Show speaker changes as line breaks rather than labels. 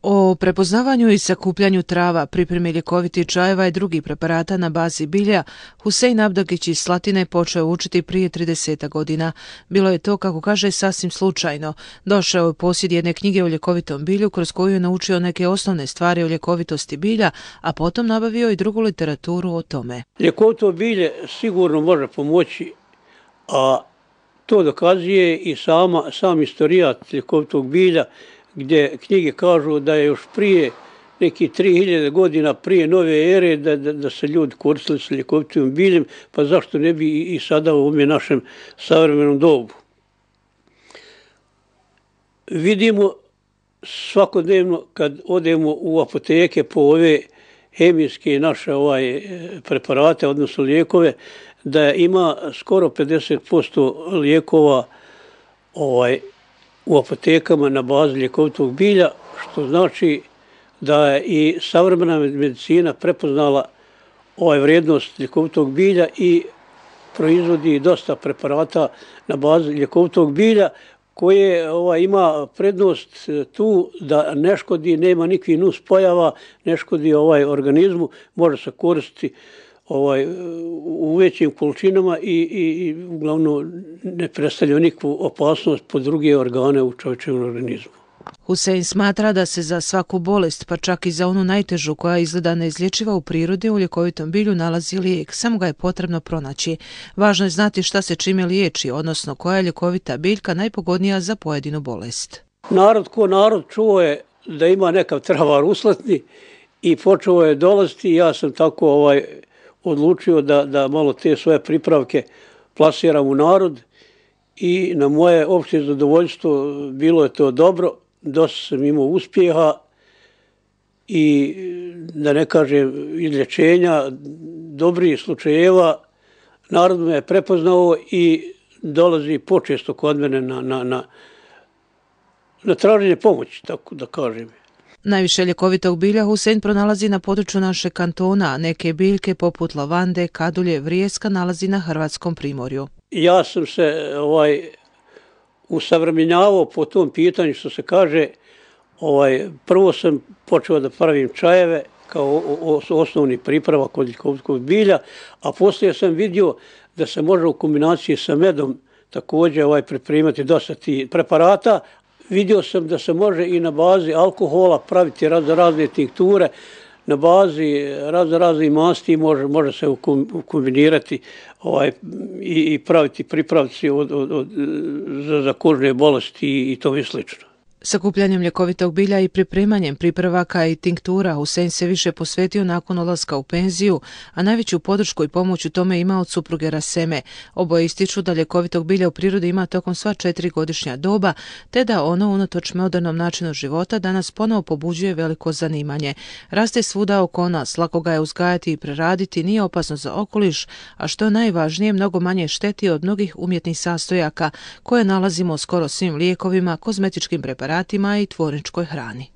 O prepoznavanju i sakupljanju trava, pripremi ljekovitih čajeva i drugih preparata na bazi bilja, Husein Abdagić iz Slatine počeo učiti prije 30 godina. Bilo je to, kako kaže, sasvim slučajno. Došao je u posjed jedne knjige o ljekovitom bilju, kroz koju je naučio neke osnovne stvari o ljekovitosti bilja, a potom nabavio i drugu literaturu o tome.
Ljekovito bilje sigurno može pomoći, a to dokazuje i sam istorijat ljekovitog bilja, gdje knjige kažu da je još prije nekih 3000 godina prije nove ere da se ljudi koristili sa ljekovitim biljem, pa zašto ne bi i sada u ovom našem savremenom dobu. Vidimo svakodnevno kad odemo u apoteke po ove hemijske naše preparate, odnosno lijekove, da ima skoro 50% lijekova u apotekama na bazi ljekovitog bilja, što znači da je i savremena medicina prepoznala vrijednost ljekovitog bilja i proizvodi dosta preparata na bazi ljekovitog bilja, koje ima prednost tu da ne škodi, nema nikakvih nuspojava, ne škodi organizmu, može se koristiti u većim količinama i uglavnom ne predstavlja nikakvu opasnost po druge organe u čovječevom organizmu.
Husein smatra da se za svaku bolest, pa čak i za onu najtežu koja izgleda neizlječiva u prirodi, u ljekovitom bilju nalazi lijek, samo ga je potrebno pronaći. Važno je znati šta se čime liječi, odnosno koja je ljekovita biljka najpogodnija za pojedinu bolest.
Narod čuo je da ima nekav travar uslatni i počeo je dolaziti. Ja sam tako odlučio da malo te svoje pripravke plasiram u narod i na moje opšte zadovoljstvo bilo je to dobro. Dosta sam imao uspjeha i da ne kažem izlječenja, dobrih slučajeva. Narod me je prepoznao i dolazi počesto kod mene na traženje pomoći, tako da kažem.
Najviše ljekovitog bilja Husein pronalazi na području našeg kantona, a neke biljke poput lavande, kadulje, vrijeska nalazi na hrvatskom primorju.
Ja sam se usavremenjavao po tom pitanju, što se kaže. Prvo sam počeo da pravim čajeve kao osnovni pripravak od ljekovitog bilja, a poslije sam vidio da se može u kombinaciji sa medom također pripremati dosta tih preparata. Vidio sam da se može i na bazi alkohola praviti razne tinkture, na bazi raznih masti može se kombinirati i praviti pripravci za kožne bolesti i tome slično.
Sakupljanjem ljekovitog bilja i pripremanjem pripravaka i tinktura Husein se više posvetio nakon odlaska u penziju, a najveću podršku i pomoć u tome ima od supruge Raseme. Oboje ističu da ljekovitog bilja u prirodi ima tokom sva 4 godišnja doba, te da ono unatoč modernom načinu života danas ponovo pobuđuje veliko zanimanje. Raste svuda oko nas, lako ga je uzgajati i preraditi, nije opasno za okoliš, a što je najvažnije, mnogo manje šteti od mnogih umjetnih sastojaka koje nalazimo skoro svim lijekovima, kozmetičkim preparatima i tvorničkoj hrani.